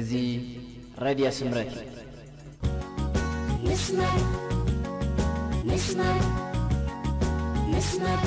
እዚ ሬድዮ ስምረት እዩ። ንስመር ንስመር ንስመር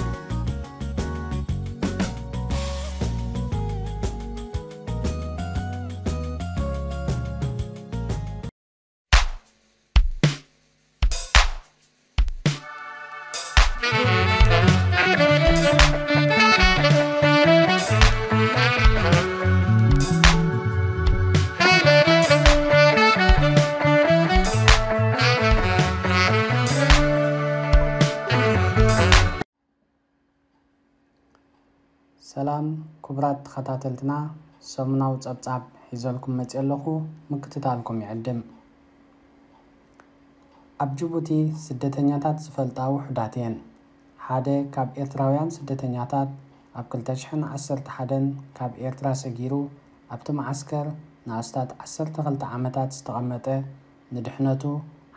ሰላም ክቡራት ተኸታተልትና፣ ሰሙናዊ ጸብጻብ ሒዘልኩም መጽየ ኣለኹ። ምክትታልኩም ይዕድም። ኣብ ጅቡቲ ስደተኛታት ዝፈልጣ ውሑዳት እየን። ሓደ ካብ ኤርትራውያን ስደተኛታት ኣብ ክልተ ሽሕን ዓሰርተ ሓደን ካብ ኤርትራ ሰጊሩ ኣብቲ መዓስከር ንኣስታት ዓሰርተ ክልተ ዓመታት ዝተቐመጠ፣ ንድሕነቱ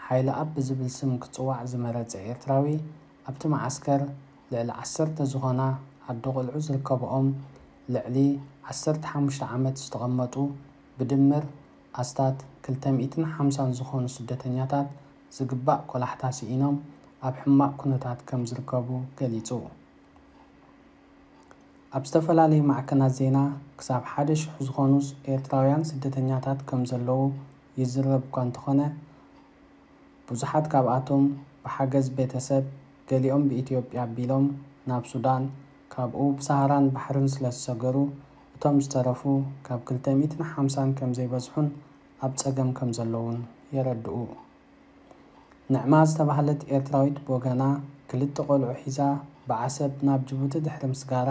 ሓይለ ኣብ ብዝብል ስም ክጽዋዕ ዝመረጸ ኤርትራዊ፣ ኣብቲ መዓስከር ልዕሊ ዓሰርተ ዝኾና ኣዶ ቆልዑ ዝርከብኦም ልዕሊ ዓሰርተ ሓሙሽተ ዓመት ዝተቐመጡ ብድምር ኣስታት ክልተ ሚእትን ሓምሳን ዝኾኑ ስደተኛታት ዝግባእ ቆላሕታ ስኢኖም ኣብ ሕማቕ ኩነታት ከም ዝርከቡ ገሊጹ። ኣብ ዝተፈላለዩ ማዕከናት ዜና ክሳብ ሓደ ሽሕ ዝኾኑ ኤርትራውያን ስደተኛታት ከም ዘለዉ ይዝረብ እኳ እንተኾነ፣ ብዙሓት ካብኣቶም ብሓገዝ ቤተሰብ፣ ገሊኦም ብኢትዮጵያ ኣቢሎም ናብ ሱዳን፣ ካብኡ ብሰሃራን ባሕርን ስለ ዝሰገሩ፣ እቶም ዝተረፉ ካብ ክልተ ሚእትን ሓምሳን ከም ዘይበዝሑን ኣብ ጸገም ከም ዘለዉን የረድኡ። ንዕማ ዝተባህለት ኤርትራዊት ብወገና፣ ክልተ ቆልዑ ሒዛ ብዓሰብ ናብ ጅቡቲ ድሕሪ ምስጋራ፣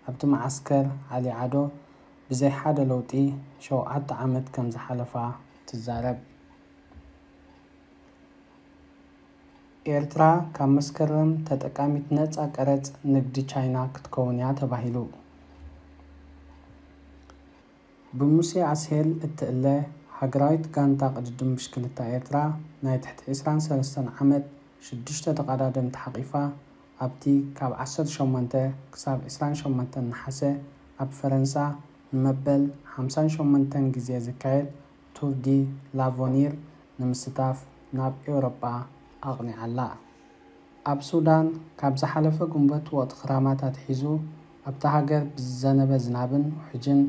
ኣብቲ መዓስከር ዓሊ ዓዶ ብዘይ ሓደ ለውጢ ሸውዓተ ዓመት ከም ዝሓለፋ ትዛረብ። ኤርትራ ካብ መስከረም ተጠቃሚት ነጻ ቀረጽ ንግዲ ቻይና ክትከውን እያ ተባሂሉ። ብሙሴ ኣስሄል እትእለ ሃገራዊት ጋንታ ቅድድም ብሽክለታ ኤርትራ፣ ናይ ትሕቲ ዕስራን ሰለስተን ዓመት ሽዱሽተ ተቐዳደምቲ ሓቒፋ፣ ኣብቲ ካብ ዓሰርተ ሸሞንተ ክሳብ ዕስራን ሸሞንተን ነሓሰ ኣብ ፈረንሳ ንመበል ሓምሳን ሸሞንተን ግዜ ዝካየድ ቱር ዲ ላቮኒር ንምስታፍ ናብ ኤውሮጳ ኣቕኒዓ ኣላ። ኣብ ሱዳን፣ ካብ ዝሓለፈ ግንቦት ወቕቲ ክራማት ኣትሒዙ፣ ኣብታ ሃገር ብዝዘነበ ዝናብን ውሕጅን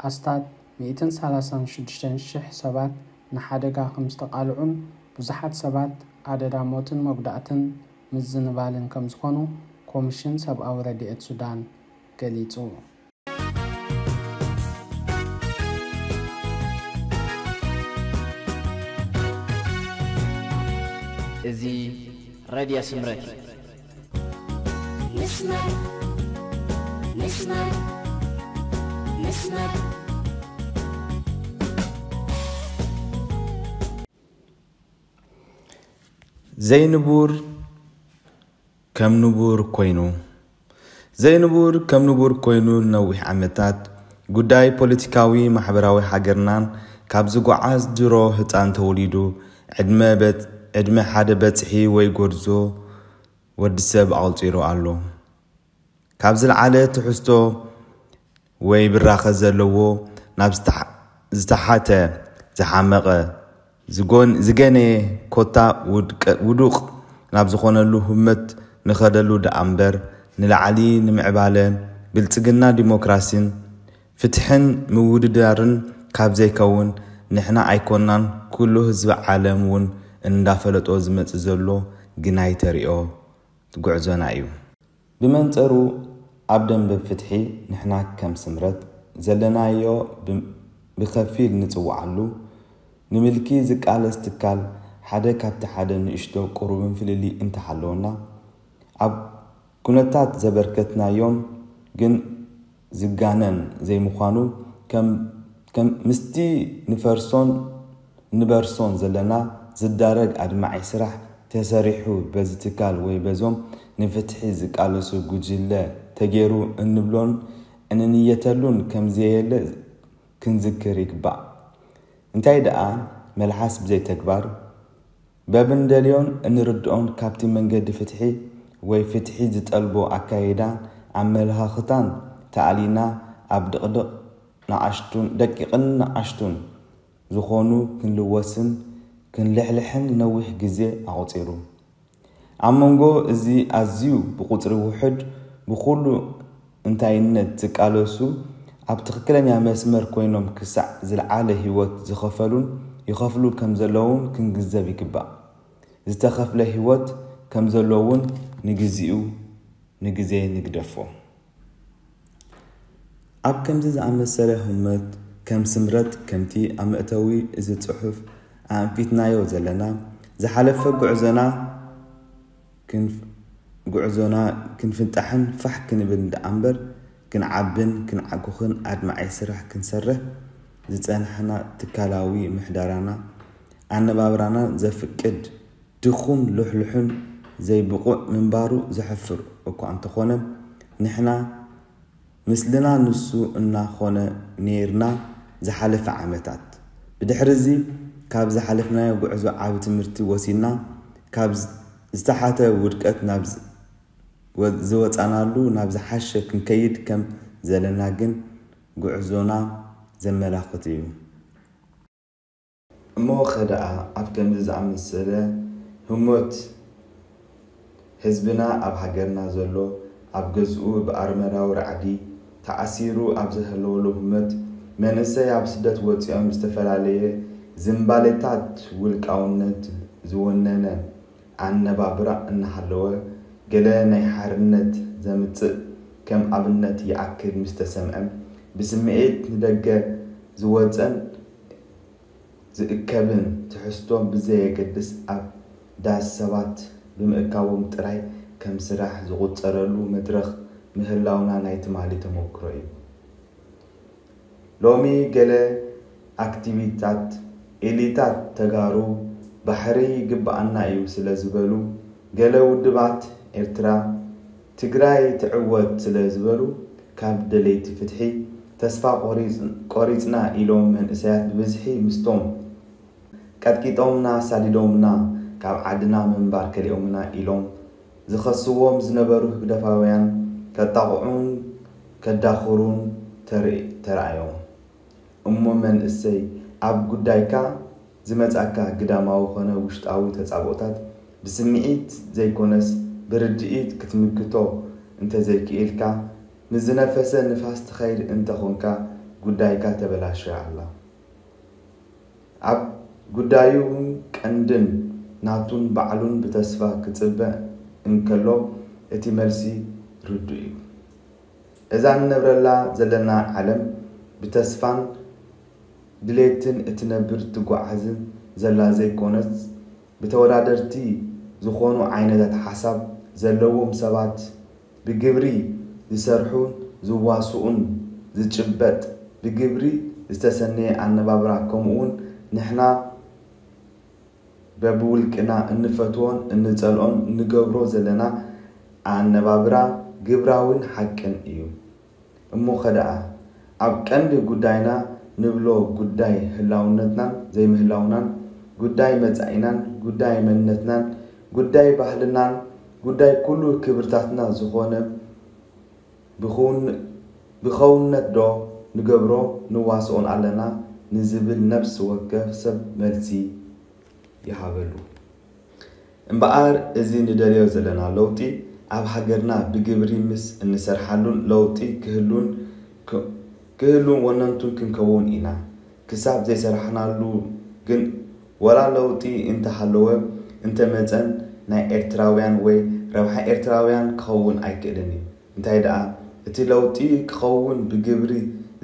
ኣስታት ሚእትን ሰላሳን ሽዱሽተን ሽሕ ሰባት ንሓደጋ ከም ዝተቓልዑን ብዙሓት ሰባት ኣደዳ ሞትን መጉዳእትን ምዝንባልን ከም ዝኾኑ ኮሚሽን ሰብኣዊ ረድኤት ሱዳን ገሊጹ። እዚ ሬድዮ ስምረት እዩ። ንስመር ንስመር ንስመር ዘይንቡር ከም ንቡር ኮይኑ። ዘይንቡር ከም ንቡር ኮይኑ ንነዊሕ ዓመታት፣ ጉዳይ ፖለቲካዊ ማሕበራዊ ሃገርናን ካብ ዝጓዓዝ ድሮ ህጻን ተወሊዱ ዕድመ በጽ-፣ ዕድመ ሓደ በጽሒ ወይ ጎርዞ ወዲ ሰብ ኣቑጺሩ ኣሎ። ካብ ዝለዓለ ትሕዝቶ ወይ ብራኸ ዘለዎ ናብ ዝተሓ-፣ ዝተሓተ፣ ዝሓመቐ፣ ዝጎን-፣ ዝገነየ ኮታ ውድቀ-፣ ውዱቕ ናብ ዝኾነሉ ህመት ንኸደሉ ደኣ እምበር፣ ንላዕሊ ንምዕባለ፣ ብልጽግና፣ ዲሞክራሲን ፍትሕን ምውድዳርን ካብ ዘይከውን፣ ንሕና ኣይኮናን ኩሉ ህዝቢ ዓለም እውን እንዳፈለጦ ዝመጽእ ዘሎ ግናይ ተሪኦ ጉዕዞና እዩ። ብመንጸሩ ኣብ ደንበ ፍትሒ ንሕና ከም ስምረት ዘለናዮ ብ-፣ ብኸፊል ንጽውዓሉ፣ ንምልኪ ዝቃለስ ትካል ሓደ ካብቲ ሓደ ንእሽቶ ቁሩብን ፍልልይ እንተሃለወና፣ ኣብ ኩነታት ዘበርከትናዮም ግን ዝጋነን ዘይምዃኑ፣ ከም፣ ከም ምስቲ ንፈርሶን ንበርሶን ዘለና ዝዳረግ ኣድማዒ ስራሕ ተሰሪሑ በዚ ትካል ወይ በዞም ንፍትሒ ዝቃለሱ ጉጅለ ተገይሩ እንብሎን እንንየተሉን ከምዘየለ ክንዝክር ይግባእ። እንታይ ደኣ መልሓስ ብዘይ ተግባር፣ በብንደልዮን እንርድኦን ካብቲ መንገዲ ፍትሒ ወይ ፍትሒ ዝጠልቦ ኣካይዳን ኣመለኻኽታን ተኣሊና ኣብ ድቕድቕ ንኣሽቱን፣ ደቂቕን ንኣሽቱን ዝኾኑ ክንልወስን ክንልሕልሕን ነዊሕ ግዜ ኣቑጺሩ። ኣብ መንጎ እዚ ኣዝዩ ብቑጽሪ ውሑድ ብኹሉ እንታይነት ዝቃለሱ ኣብ ትኽክለኛ መስመር ኮይኖም ክሳዕ ዝለዓለ ህይወት ዝኸፈሉን ይኸፍሉ ከም ዘለውን ክንግንዘብ ይግባእ። ዝተኸፍለ ህይወት ከም ዘሎ እውን ንግዚኡ ንግዜ ንግደፎ። ኣብ ከምዚ ዝኣመሰለ ህሞት ከም ስምረት ከምቲ ኣብ መእተዊ እዚ ጽሑፍ ኣንፊትናዮ ዘለና ዝሓለፈ ጉዕዞና ክንፍ- ጉዕዞና ክንፍንጣሕን ፋሕ ክንብል ደኣ እምበር ክንዓብን ክንዓኩኽን ኣድማዒ ስራሕ ክንሰርሕ ዝጸናሕና ትካላዊ ምሕደራና ኣነባብራና ዘፍቅድ ድኹም ልሕሉሕን ዘይብቑዕ ምንባሩ ዘሕፍር እኳ እንተኾነ ንሕና ምስልና ንሱ እናኾነ ነይርና ዝሓለፈ ዓመታት። ብድሕሪ እዚ ካብ ዝሓለፍናዮ ጉዕዞ ዓቢ ትምህርቲ ወሲድና ካብ ዝተሓተ ውድቀት ናብ ዝወፃናሉ ናብ ዝሓሸ ክንከይድ ከም ዘለና ግን ጉዕዞና ዘመላኽት እዩ። እሞ ኸደኣ ኣብ ከምዚ ዝኣመሰለ ህሞት ህዝብና ኣብ ሃገርና ዘሎ ኣብ ገዝኡ ብኣርመራዊ ራዕዲ ተኣሲሩ ኣብ ዝህለወሉ ህሞት መንእሰይ ኣብ ስደት ወፂኦም ዝተፈላለየ ዝንባሌታት ውልቃውነት ዝወነነ ኣነባብራ እናሃለወ ገለ ናይ ሓርነት ዘምፅእ ከም ኣብነት ይኣክል ምስ ተሰምዐ ብስምዒት ንደገ ዝወፀን ዝእከብን ትሕዝቶ ብዘየገድስ ኣብ ዳስ ሰባት ብምእካቦም ጥራይ ከም ስራሕ ዝቑጸረሉ መድረኽ ምህላውና ናይ ትማሊ ተመክሮ እዩ። ሎሚ ገለ ኣክቲቪታት ኤሊታት ተጋሩ ባሕሪ ይግበኣና እዩ ስለ ዝበሉ ገለ ውድባት ኤርትራ ትግራይ ትዕወት ስለ ዝበሉ ካብ ደለይቲ ፍትሒ ተስፋ ቆሪፅና ኢሎም መንእሰያት ብብዝሒ ምስቶም ቀጥቂጦምና ኣሳዲዶምና ካብ ዓድና ምንባር ከሊኦምና ኢሎም ዝኸስዎም ዝነበሩ ህግደፋውያን ከጣቕዑን ከዳኽሩን ተራእዮም። እሞ መንእሰይ ኣብ ጉዳይካ ዝመጻካ ግዳማዊ ኮነ ውሽጣዊ ተጻብኦታት ብስምዒት ዘይኮነስ ብርድኢት ክትምክቶ እንተዘይክኢልካ ምስ ዝነፈሰ ንፋስ ትኸይድ እንተኾንካ ጉዳይካ ተበላሽያ ኣላ። ኣብ ጉዳዩ ቀንድን ናቱን ባዕሉን ብተስፋ ክጽበ እንከሎ እቲ መልሲ ርዱእ እዩ። እዛ ንነብረላ ዘለና ዓለም ብተስፋን ድሌትን እትነብር ትጓዓዝን ዘላ ዘይኮነስ ብተወዳደርቲ ዝኾኑ ዓይነታት ሓሳብ ዘለዎም ሰባት ብግብሪ ዝሰርሑን ዝዋስኡን ዝጭበጥ ብግብሪ ዝተሰነየ ኣነባብራ ከምኡውን ንሕና በብውልቅና እንፈትዎን እንጸልኦን እንገብሮ ዘለና ኣነባብራ ግብራዊን ሓቅን እዩ። እሞ ኸደኣ ኣብ ቀንዲ ጉዳይና ንብሎ ጉዳይ ህላውነትናን ዘይምህላውናን ጉዳይ መጻኢናን ጉዳይ መንነትናን ጉዳይ ባህልናን ጉዳይ ኩሉ ክብርታትና ዝኾነ ብኸውነት ዶ ንገብሮ ንዋስኦን ኣለና ንዝብል ነብሲ ወከፍ ሰብ መልሲ ይሃበሉ። እምበኣር እዚ ንደልዮ ዘለና ለውጢ ኣብ ሃገርና ብግብሪ ምስ እንሰርሓሉን ለውጢ ክህሉን ክህሉን ወነንቱን ክንከውን ኢና። ክሳብ ዘይሰራሕናሉ ግን ወላ ለውጢ እንተሃለወ እንተመፀን ናይ ኤርትራውያን ወይ ረብሓ ኤርትራውያን ክኸውን ኣይክእልን እዩ። እንታይ ደኣ እቲ ለውጢ ክኸውን ብግብሪ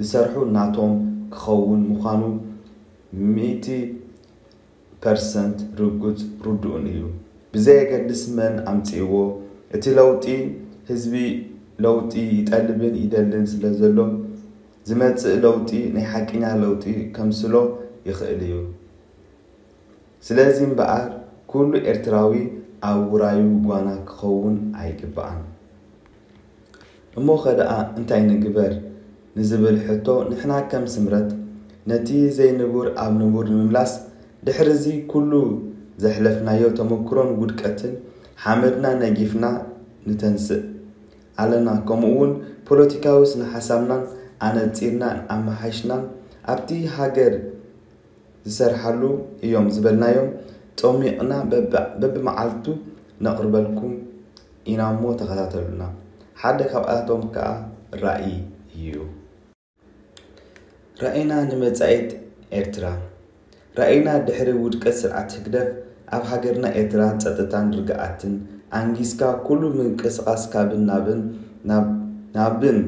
ዝሰርሑ ናቶም ክኸውን ምዃኑ ሚእቲ ፐርሰንት ርጉጽ ርዱእን እዩ። ብዘየገድስ መን ኣምጺእዎ፣ እቲ ለውጢ ህዝቢ ለውጢ ይጠልብን ይደልን ስለ ዘሎ ዝመጽእ ለውጢ ናይ ሓቀኛ ለውጢ ከምስሎ ይኽእል እዩ። ስለዚ እምበኣር ኩሉ ኤርትራዊ ኣብ ውራዩ ጓና ክኸውን ኣይግባኣን። እሞ ኸ ደኣ እንታይ ንግበር ንዝብል ሕቶ ንሕና ከም ስምረት ነቲ ዘይንቡር ኣብ ንቡር ንምምላስ ድሕሪ እዚ ኩሉ ዘሕለፍናዮ ተመክሮን ውድቀትን ሓመድና ነጊፍና ንተንስእ ኣለና። ከምኡ እውን ፖለቲካዊ ስነ ሓሳብናን ኣነጺርናን ኣመሓይሽናን ኣብቲ ሃገር ዝሰርሓሉ እዮም ዝበልናዮም ጸሚቕና በብ- በብመዓልቱ ነቕርበልኩም ኢና እሞ ተኸታተሉና። ሓደ ካብኣቶም ከኣ ራእይ እዩ። ራእይና ንመጻኢት ኤርትራ። ራእይና ድሕሪ ውድቀት ስርዓት ህግደፍ ኣብ ሃገርና ኤርትራ ጸጥታን ርግኣትን ኣንጊስካ ኩሉ ምንቅስቓስ ካብን ናብን ናብ ናብን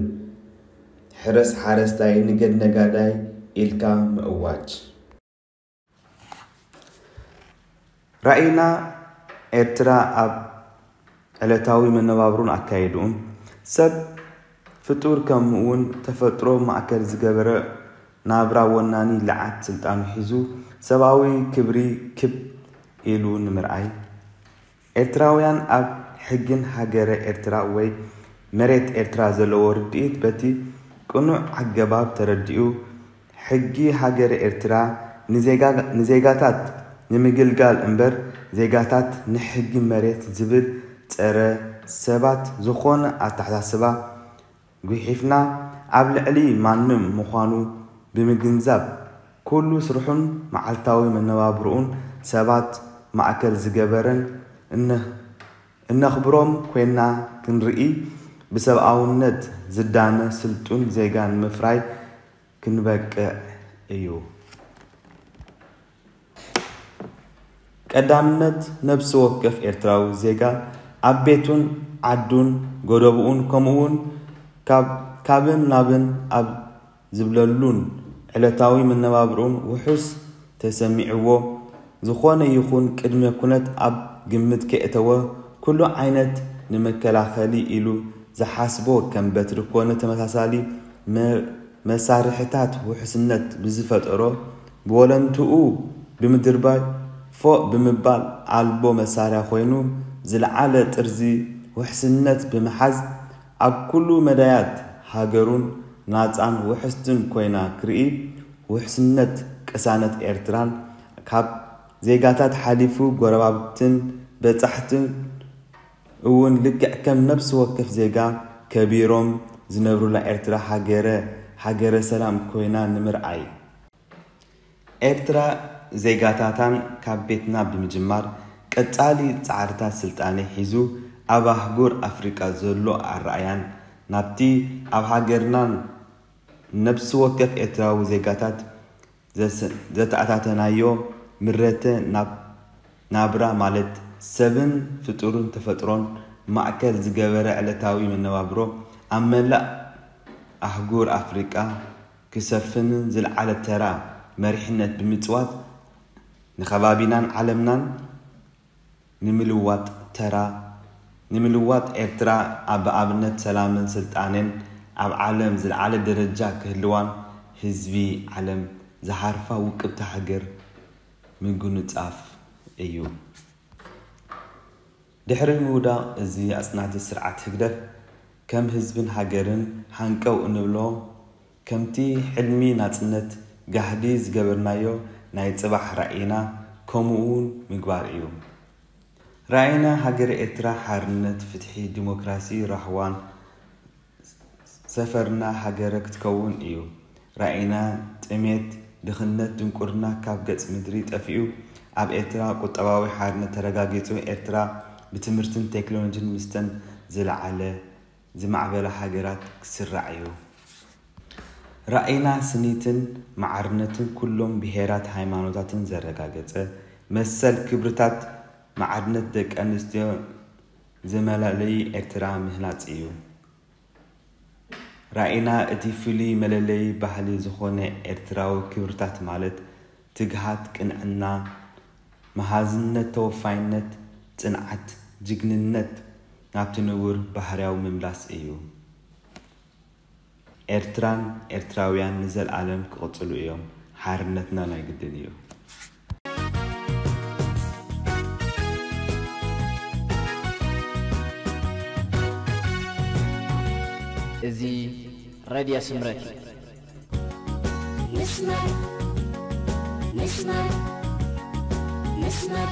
ሕረስ ሓረስታይ ንገድ ነጋዳይ ኢልካ ምእዋጅ። ራእይና ኤርትራ ኣብ ዕለታዊ መነባብሩን ኣካይድኡን ሰብ ፍጡር ከምኡውን ተፈጥሮ ማእከል ዝገበረ ናብራ ወናኒ ልዓት ስልጣኑ ሒዙ ሰብኣዊ ክብሪ ክብ ኢሉ ንምርኣይ። ኤርትራውያን ኣብ ሕግን ሃገረ ኤርትራ ወይ መሬት ኤርትራ ዘለዎ ርድኢት በቲ ቅኑዕ ኣገባብ ተረዲኡ ሕጊ ሃገረ ኤርትራ ንዜጋ- ንዜጋታት ንምግልጋል እምበር ዜጋታት ንሕጊ መሬት ዝብል ጸረ ሰባት ዝኾነ ኣተሓሳስባ ጉሒፍና ኣብ ልዕሊ ማንም ምዃኑ ብምግንዛብ ኩሉ ስርሑን መዓልታዊ መነባብርኡን ሰባት ማእከል ዝገበረን እነ- እነኽብሮም ኮይና ክንርኢ ብሰብኣውነት ዝዳነ ስልጡን ዜጋ ንምፍራይ ክንበቅዕ እዩ። ቀዳምነት ነብሲ ወከፍ ኤርትራዊ ዜጋ ኣብ ቤቱን ዓዱን ጎደብኡን ከምኡውን ካብ- ካብን ናብን ኣብ ዝብለሉን ዕለታዊ መነባብርኡን ውሑስ ተሰሚዕዎ ዝኾነ ይኹን ቅድመ ኩነት ኣብ ግምት ከየእተወ ኩሉ ዓይነት ንመከላኸሊ ኢሉ ዝሓስቦ ከም በትሪ ኮነ ተመሳሳሊ መ- መሳርሕታት ውሕስነት ብዝፈጠሮ ብወለንትኡ ብምድርባይ ፎእ ብምባል ኣልቦ መሳርያ ኮይኑ ዝለዓለ ጥርዚ ውሕስነት ብምሓዝ ኣብ ኩሉ መዳያት ሃገሩን ናጻን ውሕስትን ኮይና ክርኢ ውሕስነት ቅሳነት ኤርትራን ካብ ዜጋታት ሓሊፉ ጎረባብትን በጻሕትን እውን ልክዕ ከም ነብሲ ወከፍ ዜጋ ከቢሮም ዝነብሩላ ኤርትራ ሃገረ ሃገረ ሰላም ኮይና ንምርኣይ። ኤርትራ ዜጋታታን ካብ ቤትና ብምጅማር ቀጻሊ ጻዕርታት ስልጣነ ሒዙ ኣብ ኣህጉር ኣፍሪቃ ዘሎ ኣረኣያን ናብቲ ኣብ ሃገርናን ነብሲ ወከፍ ኤርትራዊ ዜጋታት ዘተኣታተናዮ ምረተ ናብ ናብራ ማለት ሰብን ፍጡርን ተፈጥሮን ማእከል ዝገበረ ዕለታዊ መነባብሮ ኣብ መላእ ኣህጉር ኣፍሪቃ ክሰፍንን ዝለዓለ ተራ መሪሕነት ብምጽዋት ንኸባቢናን ዓለምናን ንምልዋጥ ተራ ንምልዋጥ ኤርትራ ኣብ ኣብነት ሰላምን ስልጣኔን ኣብ ዓለም ዝለዓለ ደረጃ ክህልዋን ህዝቢ ዓለም ዝሃርፋ ውቅብቲ ሃገር ምጉንጻፍ እዩ። ድሕሪ ምውዳቕ እዚ ኣጽናቲ ስርዓት ህግደፍ ከም ህዝብን ሃገርን ሃንቀው እንብሎ ከምቲ ሕልሚ ናጽነት ጋህዲ ዝገበርናዮ ናይ ጽባሕ ራኢና ከምኡውን ምግባር እዩ። ራኢና ሃገረ ኤርትራ ሓርነት፣ ፍትሒ፣ ዲሞክራሲ፣ ራህዋን ሰፈርና ሃገረ ክትከውን እዩ። ራኢና ጥሜት፣ ድኽነት፣ ድንቁርና ካብ ገጽ ምድሪ ጠፊኡ ኣብ ኤርትራ ቁጠባዊ ሓርነት ተረጋጊጹ ኤርትራ ብትምህርትን ቴክኖሎጂን ምስተን ዝለዓለ ዝማዕበላ ሃገራት ክስራዕ እዩ። ራኢና ስኒትን ማዕርነትን ኩሎም ብሄራት ሃይማኖታትን ዘረጋገጸ መሰል ክብርታት ማዕርነት ደቂ ኣንስትዮ ዘመላለዩ ኤርትራ ምህናጽ እዩ። ራኢና እቲ ፍሉይ መለለዪ ባህሊ ዝኾነ ኤርትራዊ ክብርታት ማለት ትግሃት፣ ቅንዕና፣ መሃዝነት፣ ተወፋይነት፣ ጽንዓት፣ ጅግንነት ናብቲ ንቡር ባህርያዊ ምምላስ እዩ። ኤርትራን ኤርትራውያን ንዘልኣለም ክቕጽሉ እዮም። ሓርነትና ናይ ግድን እዩ። እዚ ረድዮ ስምረት እዩ። ንስመር ንስመር ንስመር